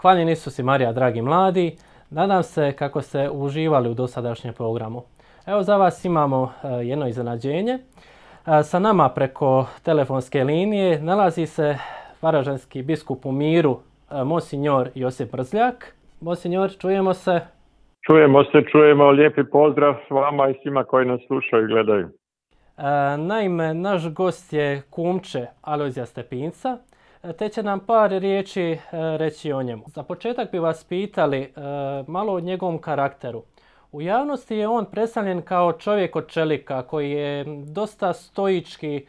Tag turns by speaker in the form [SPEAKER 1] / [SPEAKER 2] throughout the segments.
[SPEAKER 1] Hvaljen Isus i Marija, dragi mladi. Nadam se kako ste uživali u dosadašnjem programu. Evo za vas imamo jedno iznenađenje. Sa nama preko telefonske linije nalazi se varaždinski biskup u miru, Monsignor Josip Mrzljak. Monsignor, čujemo se.
[SPEAKER 2] Čujemo. Lijepi pozdrav s vama i svima koji nas slušaju i gledaju.
[SPEAKER 1] Naime, naš gost je kumče Alojzija Stepinca, te će nam par riječi reći o njemu. Za početak bi vas pitali malo o njegovom karakteru. U javnosti je on predstavljen kao čovjek od čelika koji je dosta stoički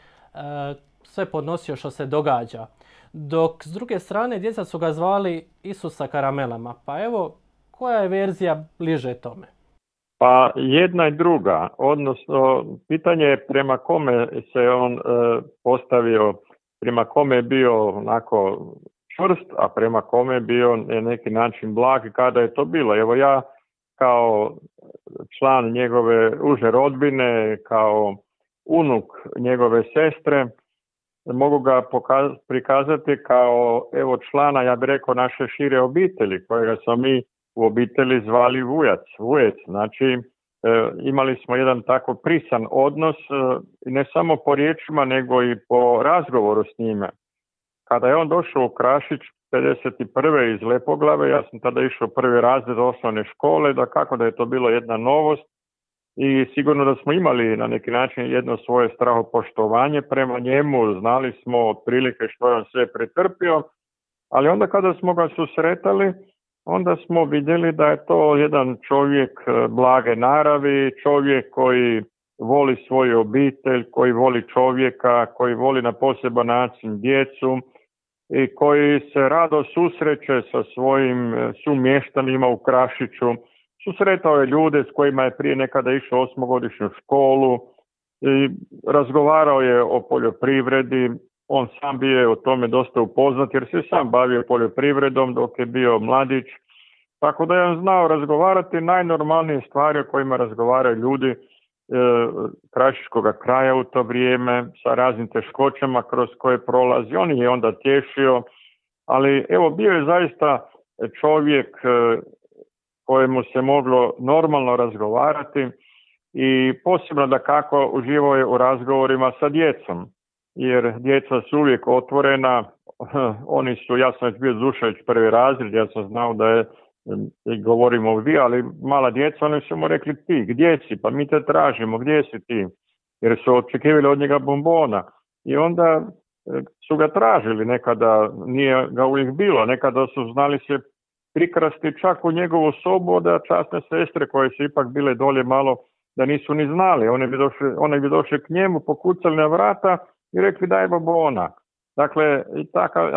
[SPEAKER 1] sve podnosio što se događa. Dok s druge strane djeca su ga zvali Isusa karamelama. Pa evo, koja je verzija bliže tome?
[SPEAKER 2] Pa jedna i druga, odnosno pitanje je prema kome se on postavio, prema kome je bio onako čvrst, a prema kome je bio na neki način blag i kada je to bilo. Evo ja kao član njegove uže rodbine, kao unuk njegove sestre, mogu ga prikazati kao evo člana, ja bih rekao, naše šire obitelji, kojega smo mi u obitelji zvali Vujec. Znači imali smo jedan tako prisan odnos, ne samo po riječima nego i po razgovoru s njime. Kada je on došao u Krašić 51. iz Lepoglave, ja sam tada išao prvi razred osnovne škole, da je to bilo jedna novost i sigurno da smo imali na neki način jedno svoje strahopoštovanje prema njemu, znali smo otprilike što je on sve pretrpio, ali onda kada smo ga susretali, onda smo vidjeli da je to jedan čovjek blage naravi, čovjek koji voli svoju obitelj, koji voli čovjeka, koji voli na poseban način djecu i koji se rado susreće sa svojim sumještanima u Krašiću. Susretao je ljude s kojima je prije nekada išao osmogodišnju školu i razgovarao je o poljoprivredi. On sam bio o tome dosta upoznat jer se sam bavio poljoprivredom dok je bio mladić. Tako da je on znao razgovarati najnormalnije stvari o kojima razgovaraju ljudi krašiškog kraja u to vrijeme, sa raznim teškoćama kroz koje prolazi. On je onda tješio, ali evo bio je zaista čovjek kojemu se moglo normalno razgovarati i posebno da kako uživao je u razgovorima sa djecom. Jer djeca su uvijek otvorena, oni su, ja sam već bio Dušević prvi razred, ja sam znao da je, govorimo vi, ali mala djeca, oni su mu rekli ti, gdje si, pa mi te tražimo, gdje si ti, jer su očekivali od njega bombona i onda su ga tražili, nekada nije ga uvijek bilo, nekada su znali se prikrasti čak u njegovu sobu, da časne sestre koje su ipak bile dolje malo, da nisu ni znali, one bi došli k njemu, pokucali na vrata i rekli daj bombona. Dakle,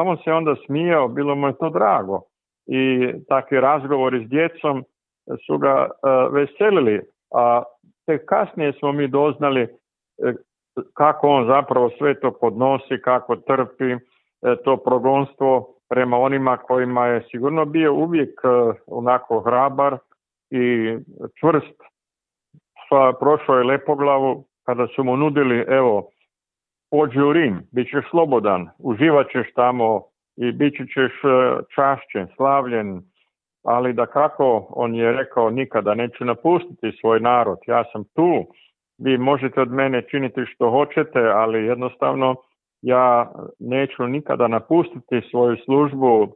[SPEAKER 2] on se onda smijao, bilo mu je to drago. I takvi razgovori s djecom su ga veselili, a tek kasnije smo mi doznali kako on zapravo sve to podnosi, kako trpi to progonstvo prema onima kojima je sigurno bio uvijek onako hrabar i čvrst. Prošao je Lepoglavu kada su mu nudili, evo, pođi u Rim, bit ćeš slobodan, uživat ćeš tamo i bit ćeš čašćen, slavljen, ali da kako on je rekao nikada neću napustiti svoj narod, ja sam tu, vi možete od mene činiti što hoćete, ali jednostavno ja neću nikada napustiti svoju službu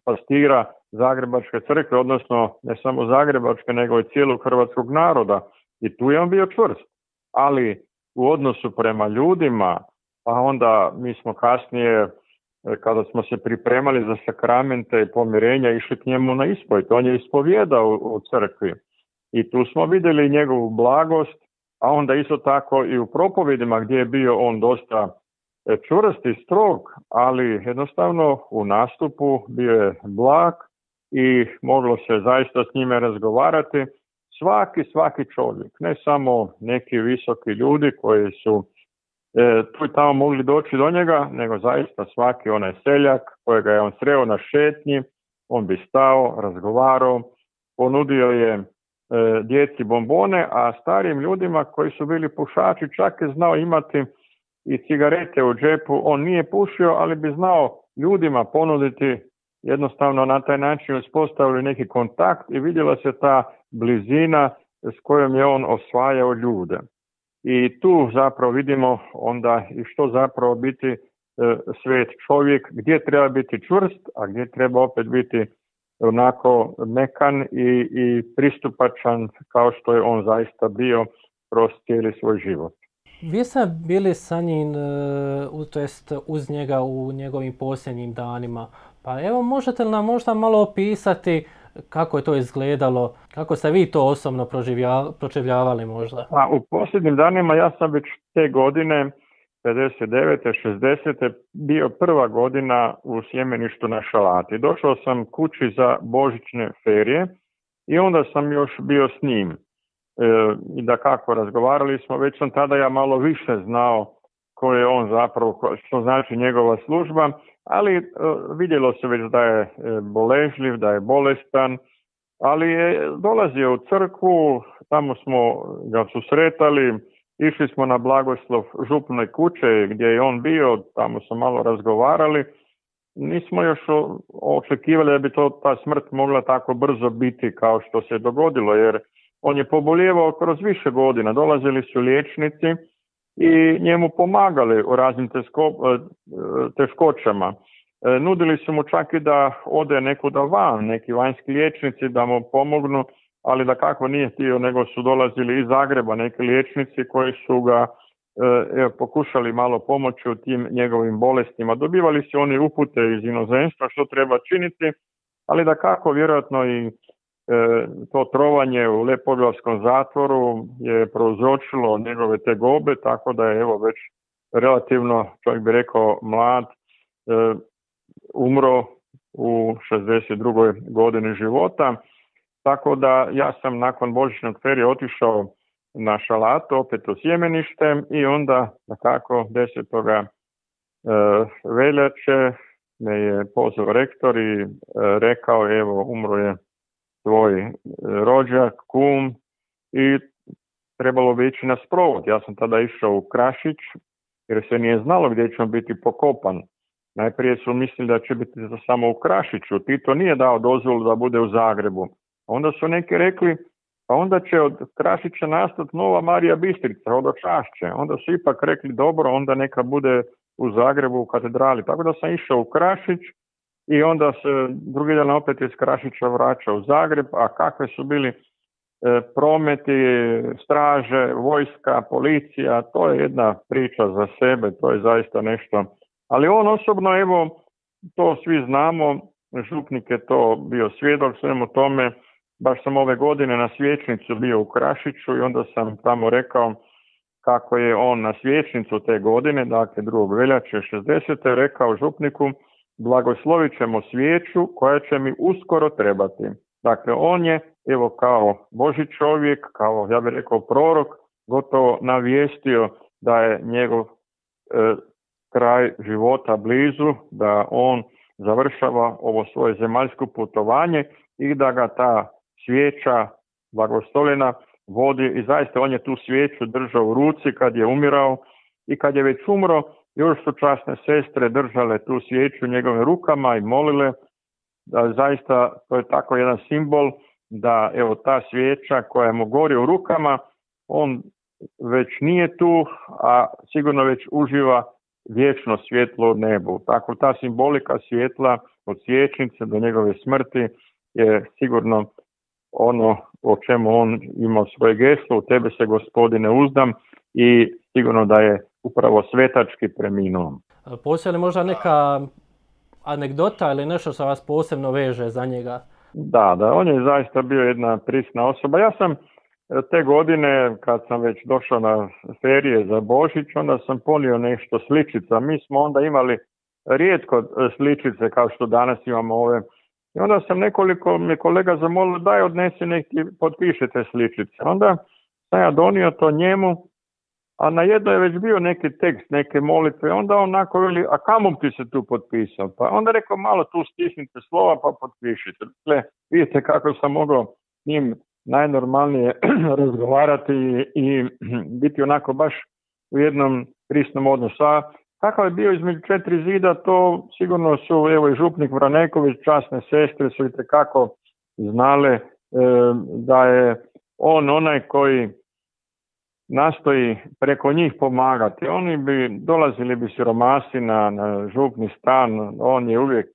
[SPEAKER 2] pastira Zagrebačke crkve, odnosno ne samo Zagrebačke, nego i cijelog hrvatskog naroda. I tu je on bio čvrst, ali u odnosu prema ljudima, pa onda mi smo kasnije, kada smo se pripremali za sakramente i pomirenja, išli k njemu na ispovijed. On je ispovjedao u crkvi i tu smo vidjeli njegovu blagost, a onda isto tako i u propovedima gdje je bio on dosta čvrst i strog, ali jednostavno u nastupu bio je blag i moglo se zaista s njime razgovarati. Svaki čovjek, ne samo neki visoki ljudi koji su tu i tamo mogli doći do njega, nego zaista svaki onaj seljak kojega je on sreo na šetnji, on bi stao, razgovarao, ponudio je djeci bombone, a starijim ljudima koji su bili pušači čak je znao imati i cigarete u džepu. On nije pušio, ali bi znao ljudima ponuditi jednostavno na taj način uspostavili neki kontakt i vidjela se ta blizina s kojom je on osvajao ljude. I tu zapravo vidimo onda i što zapravo biti svet čovjek, gdje treba biti čvrst, a gdje treba opet biti onako mekan i pristupačan kao što je on zaista bio kroz cijeli svoj život.
[SPEAKER 1] Vi ste bili sa njim, to jest uz njega u njegovim posljednjim danima. Pa evo, možete li nam možda malo opisati kako je to izgledalo, kako ste vi to osobno proživljavali možda?
[SPEAKER 2] Pa, u posljednjim danima ja sam već te godine, 59. 60. bio prva godina u sjemeništu na Šalati. Došao sam kući za božićne ferije i onda sam još bio s njim. I da kako razgovarali smo, već sam tada ja malo više znao ko je on zapravo, što znači njegova služba, ali vidjelo se već da je boležljiv, da je bolestan, ali je dolazio u crkvu, tamo smo ga susretali, išli smo na blagoslov župne kuće gdje je on bio, tamo smo malo razgovarali. Nismo još očekivali da bi ta smrt mogla tako brzo biti kao što se dogodilo, jer on je pobolijevao kroz više godina, dolazili su liječnici i njemu pomagali u raznim teškoćama. Nudili su mu čak i da ode nekuda van, neki vanjski liječnici da mu pomognu, ali da kako nije htio, nego su dolazili iz Zagreba neki liječnici koji su ga pokušali malo pomoći u tim njegovim bolestima. Dobivali su oni upute iz inozemstva što treba činiti, ali da kako vjerojatno i to trovanje u Lepoglavskom zatvoru je prouzročilo njegove tegobe, tako da je evo već relativno, čovjek bi rekao, mlad, umro u 62. godini života. Tako da ja sam nakon božićnog ferije otišao na Šalatu, opet u sjemenište, i onda nekako 10. veljače me je pozvao rektor i rekao, evo, umro je tvoj rođak, kum, i trebalo bi ići na sprovod. Ja sam tada išao u Krašić jer se nije znalo gdje će on biti pokopan. Najprije su mislili da će biti samo u Krašiću. Tito nije dao dozvolu da bude u Zagrebu. Onda su neki rekli, pa onda će od Krašića nastati nova Marija Bistrica, hodočašće. Onda su ipak rekli, dobro, onda neka bude u Zagrebu u katedrali. Tako da sam išao u Krašić i onda se drugi dan opet iz Krašića vraćao u Zagreb, a kakve su bili prometi, straže, vojska, policija, to je jedna priča za sebe, to je zaista nešto. Ali on osobno, evo, to svi znamo, župnik je to bio svjedok svemu tome. Baš sam ove godine na svječnicu bio u Krašiću i onda sam tamo rekao kako je on na svječnicu te godine, dakle 2. veljače 60. rekao župniku, blagoslovit ćemo svijeću koja će mi uskoro trebati. Dakle, on je, evo, kao Božji čovjek, kao, ja bih rekao, prorok, gotovo navijestio da je njegov kraj života blizu, da on završava ovo svoje zemaljsko putovanje i da ga ta svijeća blagoslovljena vodi, i zaista on je tu svijeću držao u ruci kad je umirao, i kad je već umro, još su časne sestre držale tu svijeću njegovim rukama i molile. Da zaista to je tako jedan simbol da, evo, ta svijeća koja mu gori u rukama, on već nije tu, a sigurno već uživa vječno svjetlo u nebu. Tako ta simbolika svjetla od svijećnice do njegove smrti je sigurno ono o čemu on imao svoje geslo, u tebe se, Gospodine, uzdam, i sigurno da je upravo svetački preminuo.
[SPEAKER 1] Postoji li možda neka anegdota ili nešto što vas posebno veže za njega?
[SPEAKER 2] Da, on je zaista bio jedna prisna osoba. Ja sam te godine, kad sam već došao na ferije za Božić, onda sam ponio nešto sličica. Mi smo onda imali rijetko sličice kao što danas imamo ove. I onda sam nekoliko mi kolega zamolio, daj odnesi neki, potpišite sličice. Onda sam ja donio to njemu, a na jednoj je već bio neki tekst, neke molitve. Onda on onako veli, a kamo ti se tu potpisao? Pa onda rekao, malo tu stisnite slova pa potpišite. Dakle, vidite kako sam mogao njim najnormalnije razgovarati i biti onako baš u jednom prisnom odnosu. A kakav je bio između četiri zida, to sigurno su, evo i župnik Vraneković, časne sestre su itekako znale da je on onaj koji nastoji preko njih pomagati. Oni dolazili bi siromasi na župni stan, on je uvijek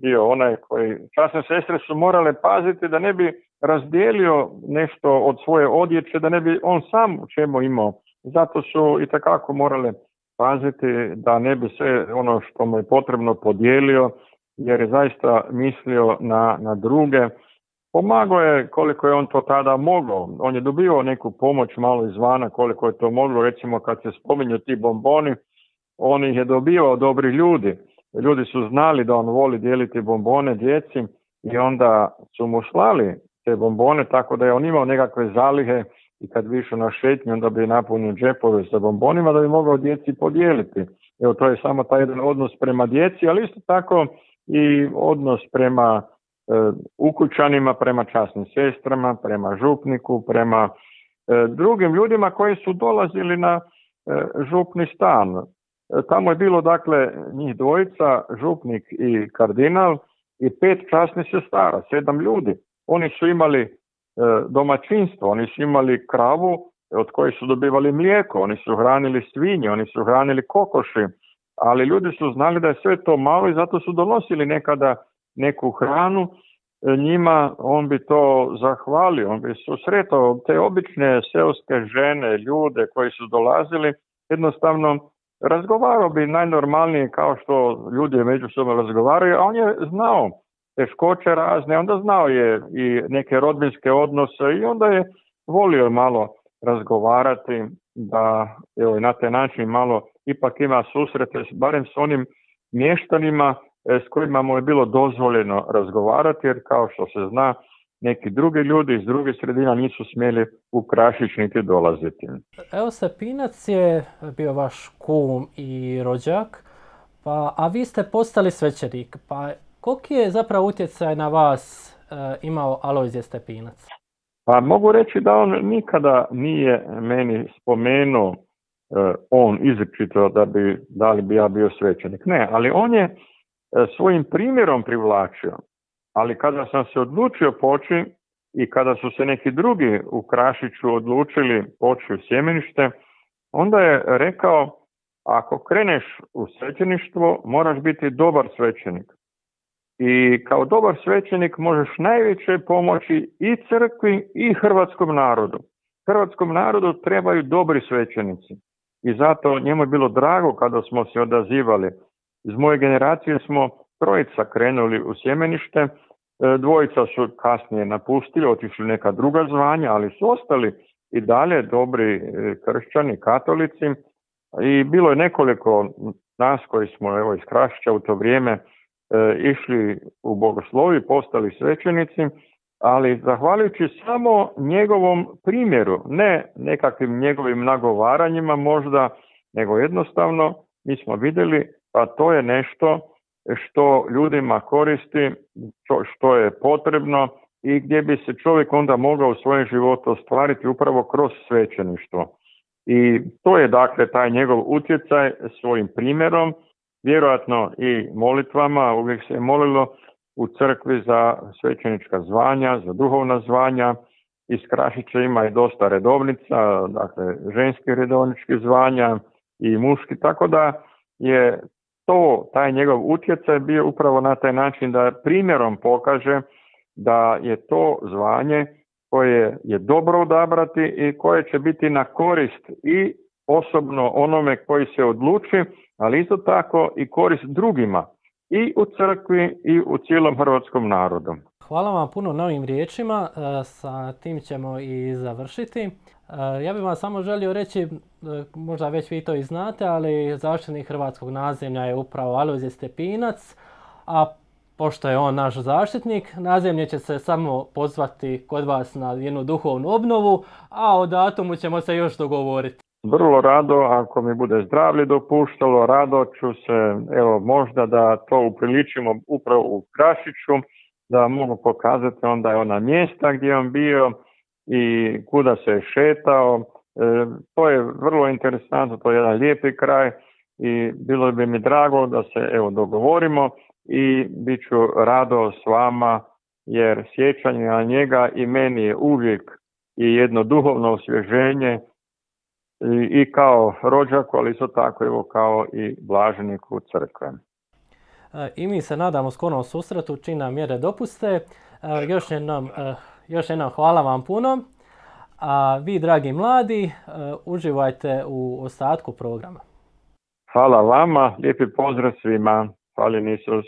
[SPEAKER 2] bio onaj koji, časne sestre su morale paziti da ne bi razdijelio nešto od svoje odjeće, da ne bi on sam u čemu imao. Zato su itekako morale paziti da ne bi sve ono što mu je potrebno podijelio, jer je zaista mislio na druge. Pomagao je koliko je on to tada mogao. On je dobio neku pomoć malo izvana koliko je to moglo. Recimo kad se spominju ti bomboni, on ih je dobio od dobrih ljudi. Ljudi su znali da on voli dijeliti bombone djeci i onda su mu slali te bombone, tako da je on imao nekakve zalihe i kad bi išao na šetnju onda bi napunio džepove sa bombonima da bi mogao djeci podijeliti. Evo, to je samo taj jedan odnos prema djeci, ali isto tako i odnos prema ukućanima, prema časnim sestrama, prema župniku, prema drugim ljudima koji su dolazili na župni stan. Tamo je bilo dakle njih dvojica, župnik i kardinal i 5 časnih sestara, 7 ljudi. Oni su imali domaćinstvo, oni su imali kravu od koje su dobivali mlijeko, oni su hranili svinje, oni su hranili kokoši, ali ljudi su znali da je sve to malo i zato su donosili nekada neku hranu njima, on bi to zahvalio, on bi susretao te obične seoske žene, ljude koji su dolazili, jednostavno razgovarao bi najnormalnije kao što ljudi međusobno razgovaraju, a on je znao teškoće razne, onda znao je i neke rodbinske odnose i onda je volio malo razgovarati da evo, na taj način malo ipak ima susrete, barem s onim mještanima s kojima mu je bilo dozvoljeno razgovarati, jer kao što se zna, neki drugi ljudi iz drugih sredina nisu smjeli u Krašić niti dolaziti.
[SPEAKER 1] Evo, Stepinac je bio vaš kum i rođak, a vi ste postali svećenik. Pa koliki je zapravo utjecaj na vas imao Alojzije Stepinac?
[SPEAKER 2] Pa mogu reći da on nikada nije meni spomenuo on izričito da li bi ja bio svećenik. Ne, ali on je svojim primjerom privlačio. Ali kada sam se odlučio poći i kada su se neki drugi u Krašiću odlučili poći u sjemenište, onda je rekao, ako kreneš u svećeništvo, moraš biti dobar svećenik. I kao dobar svećenik možeš najviše pomoći i crkvi i hrvatskom narodu. Hrvatskom narodu trebaju dobri svećenici. I zato njemu je bilo drago kada smo se odazivali. Iz moje generacije smo 3 krenuli u sjemenište, 2 su kasnije napustili, otišli neka druga zvanja, ali su ostali i dalje dobri kršćani, katolici. I bilo je nekoliko nas koji smo evo, iz Krašića u to vrijeme išli u bogoslovi, postali svećenici, ali zahvaljujući samo njegovom primjeru, ne nekakvim njegovim nagovaranjima možda, nego jednostavno mi smo vidjeli pa to je nešto što ljudima koristi, što je potrebno i gdje bi se čovjek onda mogao u svojem životu ostvariti upravo kroz svećeništvo. I to je dakle taj njegov utjecaj svojim primjerom, vjerojatno i molitvama, uvijek se je molilo u crkvi za svećenička zvanja, za duhovna zvanja. Iz Krašića ima i dosta redovnica, dakle ženskih redovničkih zvanja i muški, tako da je taj njegov utjecaj bio upravo na taj način da primjerom pokaže da je to zvanje koje je dobro odabrati i koje će biti na korist i osobno onome koji se odluči, ali isto tako i korist drugima i u crkvi i u cijelom hrvatskom narodu.
[SPEAKER 1] Hvala vam puno na ovim riječima, sa tim ćemo i završiti. Ja bih vam samo želio reći, možda već vi to i znate, ali zaštitnik hrvatskog nadzemlja je upravo Alojzije Stepinac, a pošto je on naš zaštitnik, nadzemlje će se samo pozvati kod vas na jednu duhovnu obnovu, a o datumu ćemo se još dogovoriti.
[SPEAKER 2] Vrlo rado, ako mi bude zdravlje dopuštalo, rado ću se, evo možda da to upriličimo upravo u Krašiću, da mogu pokazati onda je ona mjesta gdje je on bio i kuda se je šetao. To je vrlo interesantno, to je jedan lijepi kraj i bilo bi mi drago da se dogovorimo i bit ću rado s vama, jer sjećanje na njega i meni je uvijek i jedno duhovno osvježenje i kao rođaku, ali isto tako kao i blaženiku crkve.
[SPEAKER 1] I mi se nadamo skorom susretu čim nam mjere dopuste. Još jednom hvala vam puno. A vi, dragi mladi, uživajte u ostatku programa.
[SPEAKER 2] Hvala vama, lijepi pozdrav svima. Hvala Isus.